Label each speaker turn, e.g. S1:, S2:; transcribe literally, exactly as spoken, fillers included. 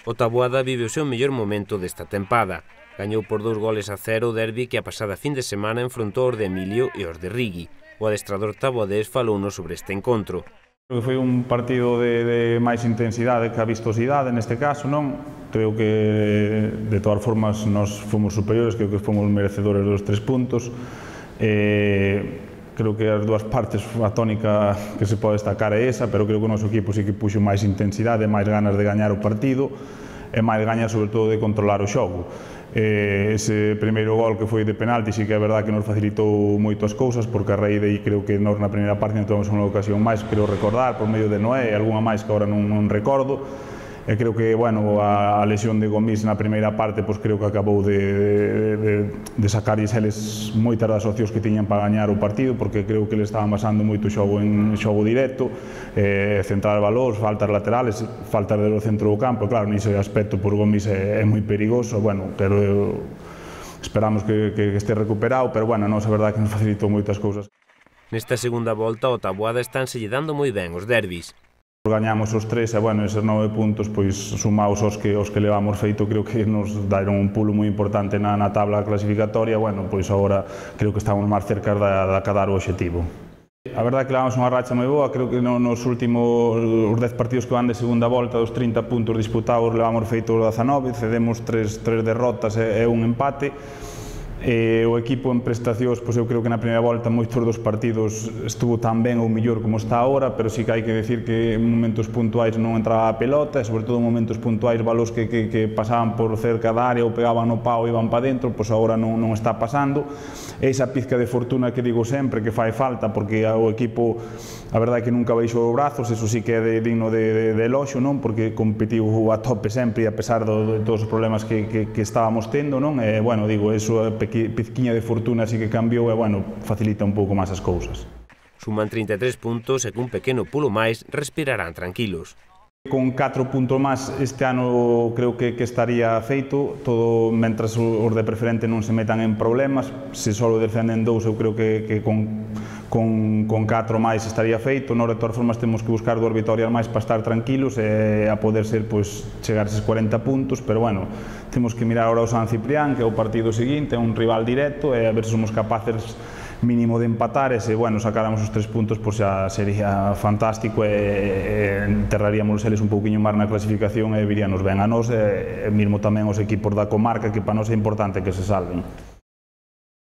S1: O Taboada vive o seu mellor momento desta tempada. Gañou por dous goles a cero o derbi que a pasada fin de semana enfrontou os de Emilio e os de Rigui. O adestrador taboadés falounos sobre este encontro.
S2: Foi un partido de, de máis intensidade que a vistosidade neste caso, non? Creo que de todas formas nós fomos superiores, creo que fomos merecedores dos tres puntos. Eh, creo que as dúas partes a tónica que se pode destacar é esa, pero creo que o noso equipo sí que puxo máis intensidade, máis ganas de gañar o partido e máis gañas sobre todo de controlar o xogo. Eh, ese primeiro gol que foi de penalti sí que é verdad que nos facilitou moito as cousas, porque a raíz de aí creo que nós na primeira parte non tivemos unha ocasión máis, creo recordar, por medio de Noé e algunha máis que agora non, non recordo. E creo que, bueno, a, a lesión de Gomis na primeira parte, pois creo que acabou de, de, de sacarlles eles moitas das opcións que tiñan para gañar o partido, porque creo que eles estaban basando moito xogo en xogo directo, eh, centrar valores, faltas laterales, faltas do centro do campo, claro, nese aspecto por Gomis é, é moi perigoso, bueno, pero eu, esperamos que, que este recuperado, pero, bueno, non é verdade que nos facilitou moitas cousas.
S1: Nesta segunda volta, o Taboada estánse lle dando moi ben os derbis.
S2: Gañamos os tres e, bueno, eses nove puntos, pois, sumaos os que, os que levamos feito, creo que nos daron un pulo moi importante na, na tabla clasificatoria, bueno, pois agora creo que estamos máis cerca de, de acadar o obxectivo. A verdade é que levamos unha racha moi boa, creo que nos últimos os dez partidos que van de segunda volta, dos trinta puntos disputados, levamos feito os dezanove, cedemos tres, tres derrotas e, e un empate. E o equipo en prestacións, pois eu creo que na primeira volta moitos dos partidos estuvo tan ben ou mellor como está agora, pero sí que hai que decir que en momentos puntuais non entraba a pelota e sobre todo en momentos puntuais valores que, que, que pasaban por cerca da área ou pegaban no pau e iban para dentro, pois agora non, non está pasando. E esa pizca de fortuna que digo sempre que fai falta, porque o equipo a verdade é que nunca baixou os brazos, eso sí que é de, digno de, de, de eloxo, non? Porque competiu a tope sempre e a pesar do, de todos os problemas que, que, que estábamos tendo, non? E, bueno, digo, eso é pizquiña de fortuna así que cambiou e, bueno, facilita un pouco máis as cousas.
S1: Suman trinta e tres puntos e cun pequeno pulo máis respirarán tranquilos.
S2: Con catro puntos máis este ano creo que, que estaría feito, todo mentras os de preferente non se metan en problemas. Se só descenden dous, eu creo que, que con, con, con catro máis estaría feito. Nós de todas formas temos que buscar dúas vitorias máis para estar tranquilos e a poder ser, pois, chegar a eses cuarenta puntos, pero, bueno, temos que mirar ahora o San Ciprián, que é o partido seguinte, é un rival directo, e a ver se somos capaces mínimo de empatar e se, bueno, sacáramos os tres puntos, pois xa sería fantástico e, e enterraríamos eles un pouquiño máis na clasificación e viríanos ben a nós e, e mesmo tamén os equipos da comarca, que para nós é importante que se salven.